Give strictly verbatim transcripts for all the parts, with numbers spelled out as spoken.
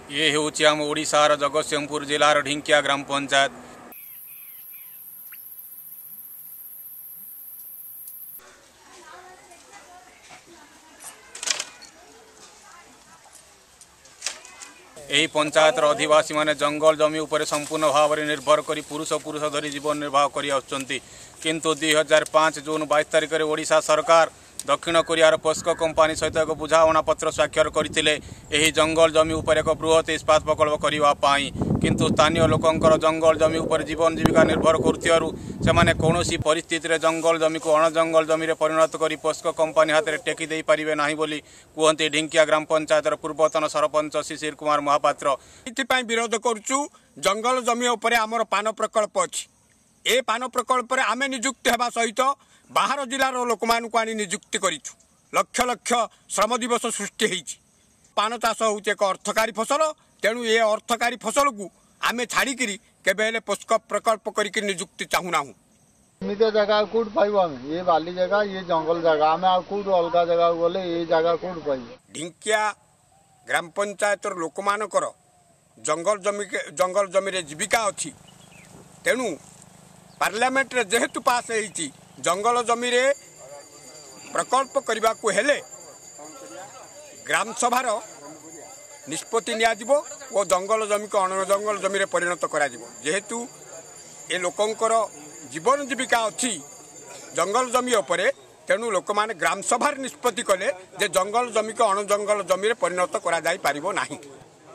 ଇଏ ହେଉଛି ଆମ ଓଡ଼ିଶାର ଜଗତସିଂହପୁର ଜିଲ୍ଲାର ଢିଙ୍କିଆ ଗ୍ରାମ ପଞ୍ଚାୟତ। ଏହି ପଞ୍ଚାୟତର ଅଧିବାସୀମାନେ ଜଙ୍ଗଲ ଜମି ଉପରେ ସମ୍ପୂର୍ଣ୍ଣ ଭାବରେ ନିର୍ଭର କରି ପୁରୁଷ ପୁରୁଷ ଧରି ଜୀବନ ନିର୍ବାହ କରି ଆସୁଛନ୍ତି। କିନ୍ତୁ ଦୁଇ ହଜାର ପାଞ୍ଚ ଜୁନ୍ ବାଇଶ ତାରିଖରେ ଓଡ଼ିଶା ସରକାର ଦକ୍ଷିଣ କୋରିଆର ପୋସ୍କୋ କମ୍ପାନୀ ସହିତ ଏକ ବୁଝାମଣା ପତ୍ର ସ୍ୱାକ୍ଷର କରିଥିଲେ ଏହି ଜଙ୍ଗଲ ଜମି ଉପରେ ଏକ ବୃହତ ଇସ୍ପାତ ପ୍ରକଳ୍ପ କରିବା ପାଇଁ। କିନ୍ତୁ ସ୍ଥାନୀୟ ଲୋକଙ୍କର ଜଙ୍ଗଲ ଜମି ଉପରେ ଜୀବନ ଜୀବିକା ନିର୍ଭର କରୁଥିବାରୁ ସେମାନେ କୌଣସି ପରିସ୍ଥିତିରେ ଜଙ୍ଗଲ ଜମିକୁ ଅଣଜଙ୍ଗଲ ଜମିରେ ପରିଣତ କରି ପୋସ୍କୋ କମ୍ପାନୀ ହାତରେ ଟେକି ଦେଇପାରିବେ ନାହିଁ ବୋଲି କୁହନ୍ତି ଢିଙ୍କିଆ ଗ୍ରାମ ପଞ୍ଚାୟତର ପୂର୍ବତନ ସରପଞ୍ଚ ଶିଶିର କୁମାର ମହାପାତ୍ର। ଏଥିପାଇଁ ବିରୋଧ କରୁଛୁ। ଜଙ୍ଗଲ ଜମି ଉପରେ ଆମର ପାନ ପ୍ରକଳ୍ପ ଅଛି। ଏ ପାନ ପ୍ରକଳ୍ପରେ ଆମେ ନିଯୁକ୍ତି ହେବା ସହିତ ବାହାର ଜିଲ୍ଲାର ଲୋକମାନଙ୍କୁ ଆଣି ନିଯୁକ୍ତି କରିଛୁ। ଲକ୍ଷ ଲକ୍ଷ ଶ୍ରମ ଦିବସ ସୃଷ୍ଟି ହେଇଛି। ପାନ ଚାଷ ହେଉଛି ଏକ ଅର୍ଥକାରୀ ଫସଲ। ତେଣୁ ଏ ଅର୍ଥକାରୀ ଫସଲକୁ ଆମେ ଛାଡ଼ିକିରି କେବେ ହେଲେ ପୋସ୍କୋ ପ୍ରକଳ୍ପ କରିକି ନିଯୁକ୍ତି ଚାହୁଁନାହୁଁ। ଏମିତିଆ ଜାଗା ଆଉ କୋଉଠି ପାଇବୁ ଆମେ? ଇଏ ବାଲି ଜାଗା, ଇଏ ଜଙ୍ଗଲ ଜାଗା, ଆମେ ଆଉ କୋଉଠୁ ଅଲଗା ଜାଗାକୁ ଗଲେ ଏଇ ଜାଗା କୋଉଠୁ ପାଇବୁ? ଢିଙ୍କିଆ ଗ୍ରାମ ପଞ୍ଚାୟତର ଲୋକମାନଙ୍କର ଜଙ୍ଗଲ ଜମି ଜଙ୍ଗଲ ଜମିରେ ଜୀବିକା ଅଛି। ତେଣୁ ପାର୍ଲାମେଣ୍ଟରେ ଯେହେତୁ ପାସ୍ ହେଇଛି, ଜଙ୍ଗଲ ଜମିରେ ପ୍ରକଳ୍ପ କରିବାକୁ ହେଲେ ଗ୍ରାମସଭାର ନିଷ୍ପତ୍ତି ନିଆଯିବ ଓ ଜଙ୍ଗଲ ଜମିକୁ ଅଣଜଙ୍ଗଲ ଜମିରେ ପରିଣତ କରାଯିବ। ଯେହେତୁ ଏ ଲୋକଙ୍କର ଜୀବନ ଜୀବିକା ଅଛି ଜଙ୍ଗଲ ଜମି ଉପରେ, ତେଣୁ ଲୋକମାନେ ଗ୍ରାମସଭାରେ ନିଷ୍ପତ୍ତି କଲେ ଯେ ଜଙ୍ଗଲ ଜମିକୁ ଅଣଜଙ୍ଗଲ ଜମିରେ ପରିଣତ କରାଯାଇପାରିବ ନାହିଁ।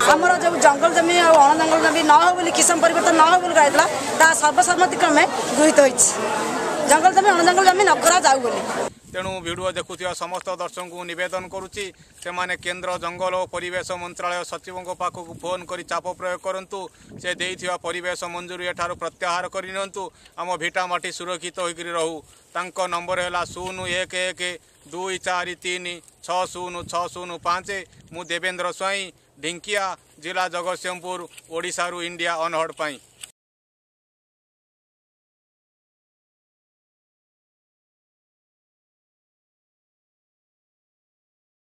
ଆମର ଯେଉଁ ଜଙ୍ଗଲ ଜମି ଆଉ ଅଣଜଙ୍ଗଲ ଜମି ନ ହଉ ବୋଲି, କିସମ ପରିବର୍ତ୍ତନ ନ ହଉ ବୋଲି କରାଯାଇଥିଲା, ତାହା ସର୍ବସମ୍ମତି କ୍ରମେ ଗୃହୀତ ହୋଇଛି, ଜଙ୍ଗଲ ଜମି ଅଣଜଙ୍ଗଲ ଜମି ନ କରାଯାଉ ବୋଲି। ତେଣୁ ଭିଡ଼ିଓ ଦେଖୁଥିବା ସମସ୍ତ ଦର୍ଶକଙ୍କୁ ନିବେଦନ କରୁଛି, ସେମାନେ କେନ୍ଦ୍ର ଜଙ୍ଗଲ ଓ ପରିବେଶ ମନ୍ତ୍ରାଳୟ ସଚିବଙ୍କ ପାଖକୁ ଫୋନ୍ କରି ଚାପ ପ୍ରୟୋଗ କରନ୍ତୁ। ସେ ଦେଇଥିବା ପରିବେଶ ମଞ୍ଜୁରୀ ଏଠାରୁ ପ୍ରତ୍ୟାହାର କରିନିଅନ୍ତୁ, ଆମ ଭିଟାମାଟି ସୁରକ୍ଷିତ ହୋଇକରି ରହୁ। ତାଙ୍କ ନମ୍ବର ହେଲା ଶୂନ ଏକ ଏକ ଦୁଇ ଚାରି ତିନି ଛଅ ଶୂନ ଛଅ ଶୂନ ପାଞ୍ଚ। ମୁଁ ଦେବେନ୍ଦ୍ର ସ୍ୱାଇଁ, ଢିଙ୍କିଆ, ଜିଲ୍ଲା ଜଗତସିଂହପୁର, ଓଡ଼ିଶାରୁ ଇଣ୍ଡିଆ ଅନହର୍ଡ଼ ପାଇଁ।